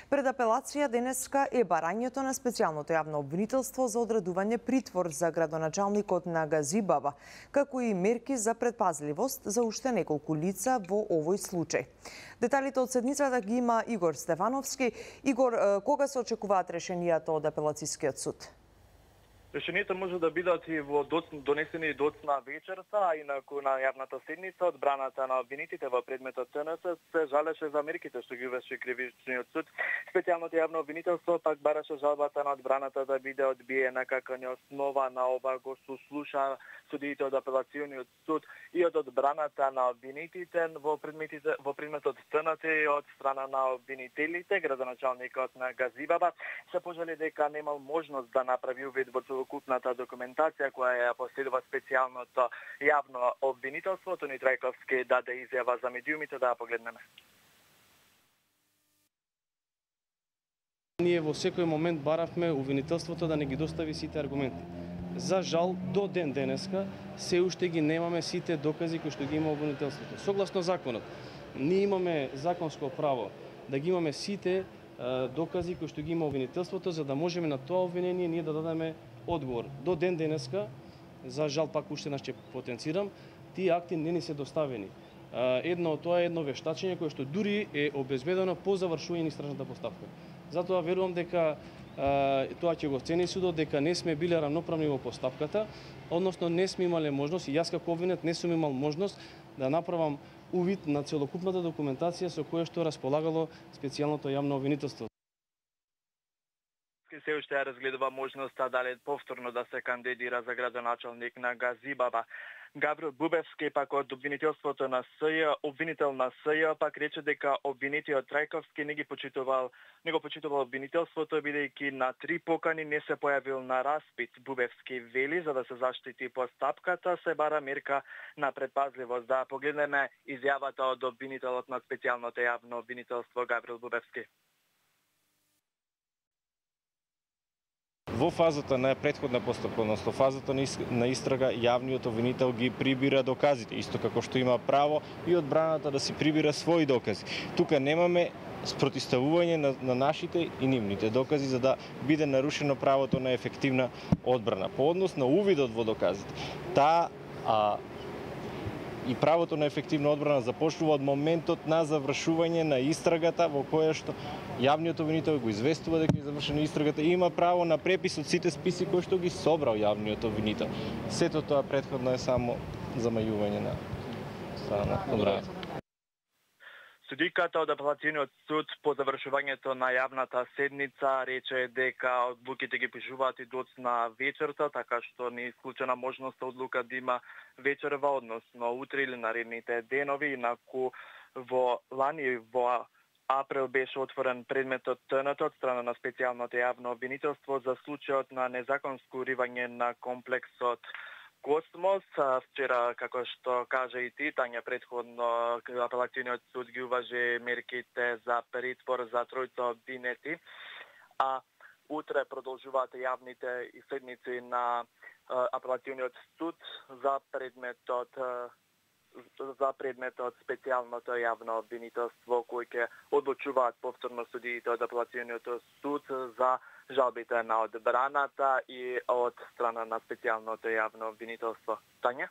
Пред апелација денеска е барањето на специјалното јавно обвинителство за одредување притвор за градоначалникот на Газибаба, како и мерки за предпазливост за уште неколку лица во овој случај. Деталите од седницата ги има Игор Стефановски. Игор, кога се очекуваат решенијата од апелацискиот суд? Решението може да бидат и донесени доцна вечерта, а инаку на јавната седница одбраната на обвинитите во предметот ТНС се жалеше за мерките што ги uvеше кривичниот суд. Специјалното јавно обвинителство пак бараше жалбата на одбраната да биде одбиена како неоснова на ова го сослуша судиите од апелациониот суд и од одбраната на обвинитите во предметот ТНС и од страна на обвинителите. Градоначалникот на Газибаба се пожали дека немал можност да направи увид во целокупната документација која ја последува специјалното јавно обвинителство. Тони Трајковски даде изјава за медиумите, да ја погледнеме. Ние во секој момент баравме обвинителството да не ги достави сите аргументи. За жал, до ден денеска се уште ги немаме сите докази кои што ги има обвинителството. Согласно законот, ние имаме законско право да ги имаме сите докази кои што ги има обвинителството, за да можеме на тоа обвинение ние да дадеме одговор. До ден денеска, за жал пак уште ќе потенцирам, тие акти не ни се доставени. Едно од тоа е едно вештачење кое што дури е обезбедено по завршување на истражната постапка. Затоа верувам дека тоа ќе го цени судот, дека не сме биле равноправни во постапката, односно не сме имале можност, и јас како обвинет не сум имал можност да направам увид на целокупната документација со која што располагало специјалното јавно обвинителство. Се уште ја разгледува можноста дали повторно да се кандидира за градоначалник на Газибаба. Гаврил Бубевски пак од обвинителството на СЈ, обвинител на СЈ, пак рече дека обвинитиот Трајковски не го почитувал обвинителството, бидејќи на 3 покани не се појавил на распит. Бубевски вели, за да се заштити постапката, се бара мерка на предпазливост. Да погледнеме изјавата од обвинителот на специјалното јавно обвинителство Гаврил Бубевски. Во фазата на претходна постапка, односно фазата на истрага, јавниот обвинител ги прибира доказите, исто како што има право и одбраната да си прибира своји докази. Тука немаме спротивставување на нашите и нивните докази за да биде нарушено правото на ефективна одбрана. По однос на увидот во доказите, и правото на ефективна одбрана започнува од моментот на завршување на истрагата во која што јавниот обвинител го известува дека е завршена истрагата и има право на препис од сите списи кои што ги собрал јавниот обвинител. Сето тоа претходно е само замајување на страна на одбраната. Судиката од апелациониот суд по завршувањето на јавната седница рече дека одлуките ги пишуваат и доцна вечерта, така што не е исклучена можноста одлука да има вечерва, односно утре или наредните денови. Инаку во лани во април беше отворен предметот ТНТ од страна на специјалното јавно обвинителство за случајот на незаконско уривање на комплексот Космос. Вчера, како што кажа и ти, Тања, предходно апелациониот суд ги уважи мерките за притвор за тројца обвинети, а утре продолжуваат јавните седници на апелациониот суд за предметот специјалното јавно обвинителство, кој ќе одлучуваат повторно судиите од апелациониот суд за жалбите на одбраната и од страна на специјалното јавно обвинителство. Тања?